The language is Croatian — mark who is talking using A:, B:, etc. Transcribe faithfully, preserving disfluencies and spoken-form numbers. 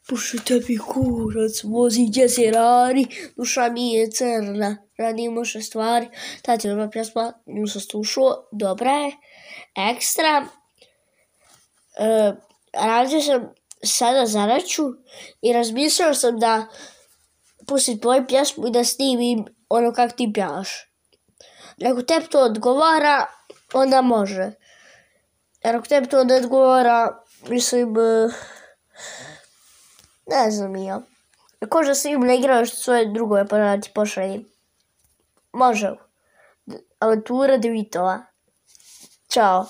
A: Puši tebi kurac, vozi gdje se radi, duša mi je crna, radimo še stvari. Ta cijela pjesma, nju sam slušao, dobra je, ekstra. E, radio sam sada zadaću i razmislio sam da pustim tvoju pjesmu i da snimim ono kak ti pjevaš. Ako tebi to odgovara, onda može. Jer ako tebi to ne odgovara, mislim, ne znam i ja. Ako da snimim na igralištu svoje drugove pa da ti pošaljem. Može. Avantura Devitova. Ćao.